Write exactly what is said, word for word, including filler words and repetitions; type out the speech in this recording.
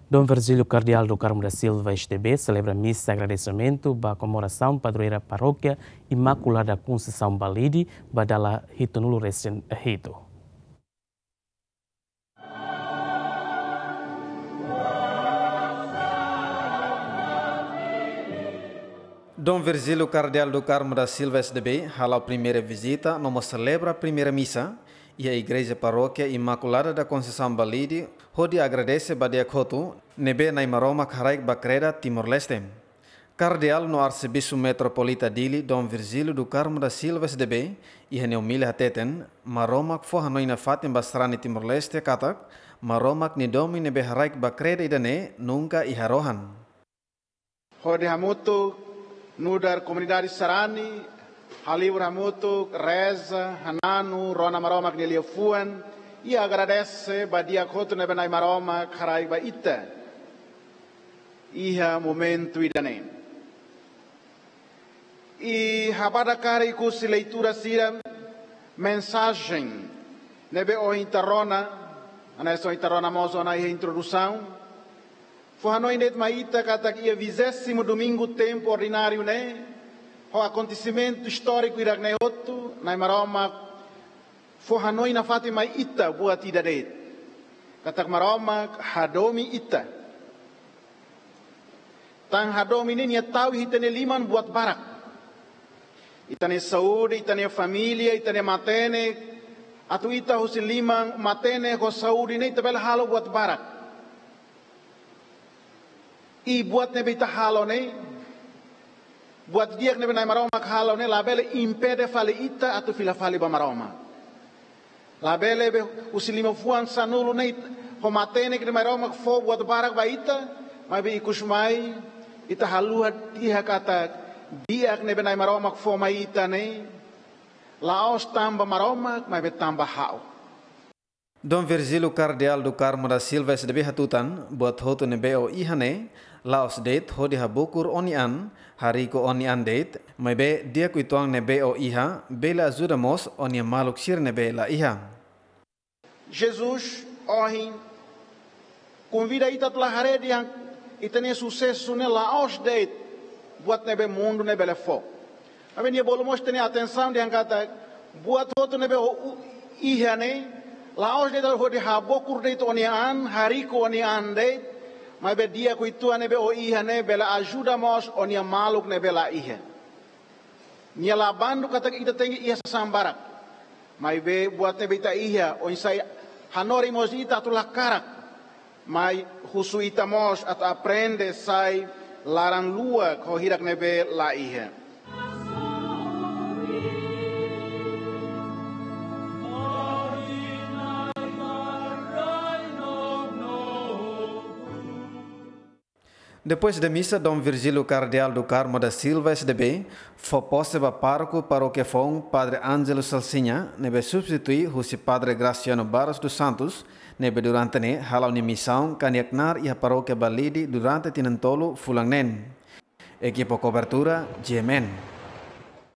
Dom Virgílio Kardeál do Carmo da Silva S D B selebra misa agradesimentu ba komemorasaun padroeira Parókia Imakulada Konseisaun Balide ba dala hitunulu resin hitu. Dom Virgílio Kardeál do Carmo da Silva S D B hala'o primeira vizita no mós selebra primeira misa iha Igreja Parókia Imakulada da Conceição Balide, hodi agradese ba di'ak hotu ne'ebé Na'i Maromak haraik ba kreda Timor-Leste. Kardeál no Arsebispu Metropolita Dili, Dom Virgílio do Carmo da Silva S D B, iha nia omilia hateten, Maromak fó hanoin nafatin ba sarani Timor-Leste katak, Maromak nia domin ne'ebé haraik ba kreda ida-ne'e nunka iha rohan. Hodi hamutuk nu'udar komunidade sarani, halibur hamutuk, reza, hananu, rona Maromak nia liafuan, i agradese ba di'ak hotu ne'ebé Na'i Maromak haraik ba ita iha momentu ida-ne'e. I ha'u barak karik husi leitura sira, mensajen ne'ebé ohin ita rona, hanesan ohin ita rona mós ona iha introdusaun, fó hanoin de'it mai ita katak iha vigésimo domingu tempu ordináriu ne'e, ho akontesimentu istóriku hirak-ne'e hotu, Na'i Maromak fó hanoin nafatin mai ita buat ida de'it. Katak Maromak hadomi ita. Tan hadomi ne'e nia tau iha ita-nia liman buat barak. Ita-nia saúde, ita-nia família, ita-nia matenek. Atu ita husi liman, matenek ho saúde ne'e ita bele halo buat barak. I buat ne'ebé ita halo ne'e, buat di'ak ne'ebé Na'i Maromak halo ne'e, labele impede fali ita atu fila fali ba Maromak. Labele be husi liman-fuan sanulu ne'e, ho matenek ne'ebé Maromak fó buat barak ba ita, maibé ikus mai, ita haluha tiha katak, di'ak ne'ebé Na'i Maromak fó mai ita ne'e, la'ós tanba Maromak, maibé tanba ha'u. Dom Virgílio Kardeál do Carmo da Silva S D B hatutan, buat hotu ne'ebé ó iha ne'e, la'ós de'it hodi habokur ó-nia an, hariku ó-nia an de'it, maibé di'ak uitoan ne'ebé ó iha, bele ajuda mós ó-nia maluk sira ne'ebé la iha. Jesus, ohin, konvida ita atu la haree dehan ita-nia susesu ne'e la'ós de'it buat ne'ebé mundu ne'e bele fó. Maibé nia bolu mós ita-nia atensaun dehan katak buat hotu ne'ebé ó u-, iha ne'e, la'ós de'it hodi habokur de'it ó-nia an, hariku ó-nia an de'it, maibé di'ak uitoan ne'ebé ó iha ne'e bele ajuda mós ó-nia maluk ne'ebé la iha. Nia la bandu katak ita tenke iha sasán barak. Maibé buat ne'ebé ita iha, oinsá hanorin mós ita atu la karak. Mai husu ita mós atu aprende sai laran-luak ho hirak ne'ebé la iha. Depois de misa, Dom Virgílio Kardeál do Carmo da Silva, S D B, fó pose ba pároku parókia foun, Padre Ângelo Salsinha, ne'ebé substitui husi Padre Graciano Barros dos Santos, ne'ebé durante ne'e hala'o nia misaun ka nia knaar iha parókia Balide durante tinan tolu fulan neen. Ekipa kobertura, G M N.